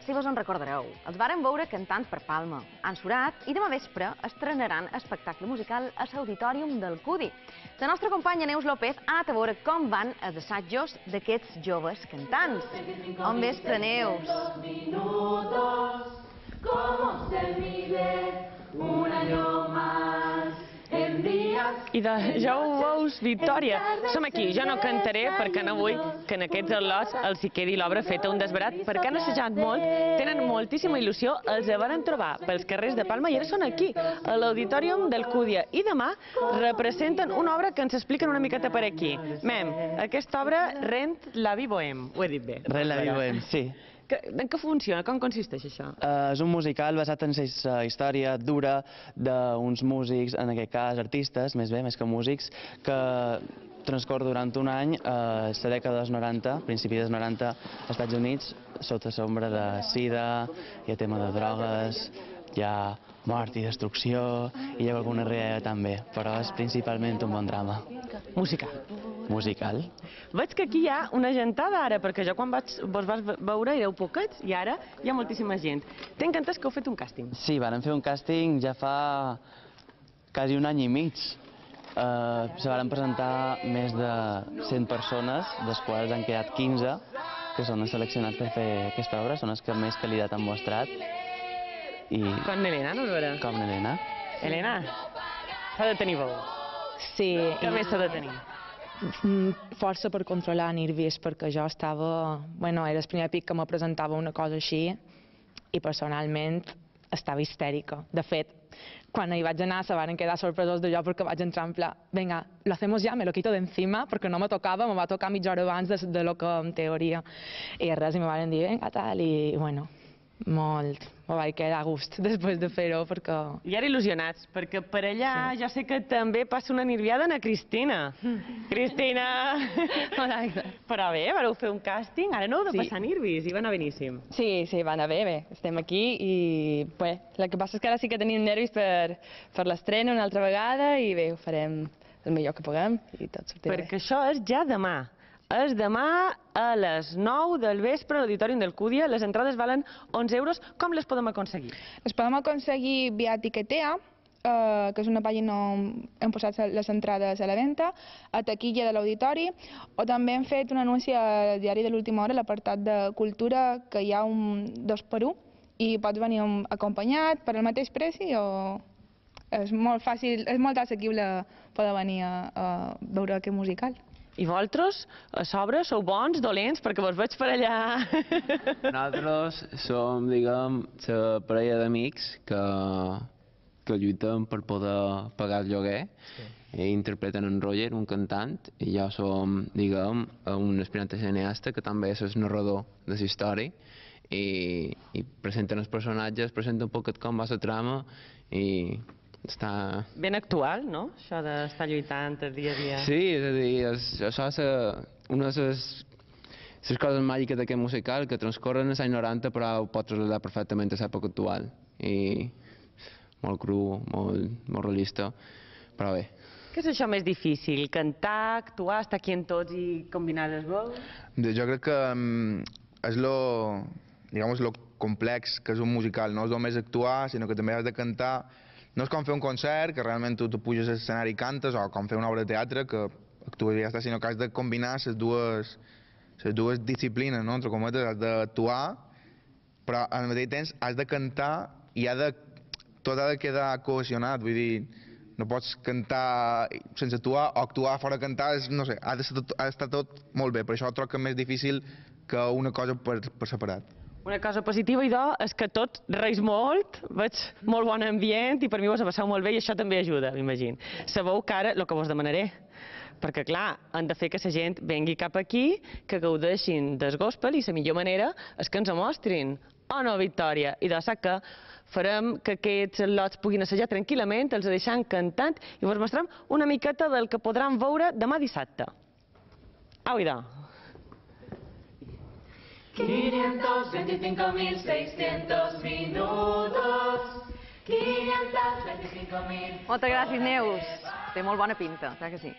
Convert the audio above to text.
si vos en recordareu. Els varen veure cantant per Palma, han surat i demà vespre estrenaran espectacle musical a l'Auditorium del Cudi. La nostra companya Neus López ha anat a veure com van els assajos d'aquests joves cantants. Bon vespre, Neus. I ja ho veus, Victòria. Som aquí, jo no cantaré perquè no vull que en aquests al·lots els hi quedi l'obra feta un desbarat, perquè han assajat molt, tenen moltíssima il·lusió, els varen trobar pels carrers de Palma i ara són aquí, a l'Auditorium del Cúdia. I demà representen una obra que ens expliquen una miqueta per aquí. Mem, aquesta obra, Rent la vie bohème, ho he dit bé. Rent la vie bohème, sí. En què funciona? Com consisteix això? És un musical basat en la història dura d'uns músics, en aquest cas artistes, més que músics, que transcorre durant un any a la dècada dels 90, principi dels 90, als Estats Units, sota l'ombra de sida, hi ha tema de drogues, hi ha mort i destrucció, i hi ha alguna realitat també, però és principalment un bon drama. Musical. Veig que aquí hi ha una gentada ara, perquè jo quan vos vas veure éreu poquets i ara hi ha moltíssima gent. Tinc entès que heu fet un càsting. Sí, vàrem fer un càsting ja fa quasi un any i mig. Se varen presentar més de 100 persones, dels quals han quedat 15, que són els seleccionats per fer aquesta obra, són els que més qualitat han mostrat. Com Helena, no veure? Com Helena. Helena, s'ha de tenir veu. Sí. Què més s'ha de tenir? Força per controlar nervis, perquè jo estava... Bueno, era el primer pic que me presentava una cosa així i personalment estava histèrica. De fet, quan hi vaig anar se van quedar sorpresos d'allò perquè vaig entrar en pla, venga, lo hacemos ya, me lo quito de encima, perquè no me tocava, me va tocar mitja hora abans de lo que en teoria. I res, i me van dir, venga, tal, i bueno, molt, me vaig quedar a gust després de fer-ho, perquè... I ara il·lusionats, perquè per allà jo sé que també passa una nerviada a Cristina. Cristina! Hola. Però bé, vareu fer un càsting, ara no heu de passar nervis, i va anar beníssim. Sí, va anar bé, estem aquí i bé, el que passa és que ara sí que tenim nervis per l'estrena una altra vegada i bé, ho farem el millor que puguem i tot sortirà bé. Perquè això és ja demà. És demà a les 9 del vespre a l'Auditorium del Cúdia. Les entrades valen 11 euros. Com les podem aconseguir? Les podem aconseguir via Tiquetea, que és una pàgina on hem posat les entrades a la venda, a taquilla de l'auditori, o també hem fet un anunci al diari de l'última hora, a l'apartat de cultura, que hi ha un 2x1 i pots venir acompanyat per al mateix preci o... És molt fàcil, és molt assequible poder venir a veure aquest musical. I vosaltres, a sobre, sou bons, dolents, perquè vos veig per allà. Nosaltres som, diguem, la parella d'amics que lluiten per poder pagar el lloguer. I interpreten en Roger, un cantant, i jo som, diguem, un aspirant a cineasta que també és el narrador de la història i presenten els personatges, presenten un poquet com va la trama i està... Ben actual, no?, això d'estar lluitant el dia a dia. Sí, és a dir, això és una de les coses màgiques d'aquest musical, que transcorren als anys 90 però ho pot traslladar perfectament a l'època actual. I molt cru, molt realista, però bé. Què és això més difícil? Cantar, actuar, estar aquí en tots i combinar les veus? Jo crec que és lo complex que és un musical, no és només actuar, sinó que també has de cantar. No és com fer un concert, que realment tu puges a l'escenari i cantes, o com fer una obra de teatre, que actues i ja està, sinó que has de combinar les dues disciplines, no? Entre cometes, has d'actuar, però al mateix temps has de cantar i tot ha de quedar cohesionat, vull dir, no pots cantar sense actuar o actuar fora cantar, no sé, ha d'estar tot molt bé, per això trobo que és més difícil que una cosa per separat. Una cosa positiva, idò, és que tot reis molt, veig molt bon ambient i per mi vos ha passat molt bé i això també ajuda, m'imagino. Sabeu que ara, el que vos demanaré, perquè clar, han de fer que la gent vengui cap aquí, que gaudeixin del gospel i la millor manera és que ens ho mostrin. O no, Victòria? I de sap que farem que aquests lots puguin assajar tranquil·lament, els deixant cantant i vos mostrem una miqueta del que podran veure demà dissabte. Au, idò. 525.600 minutos. 525.000. Moltes gràcies, Neus. Té molt bona pinta, clar que sí.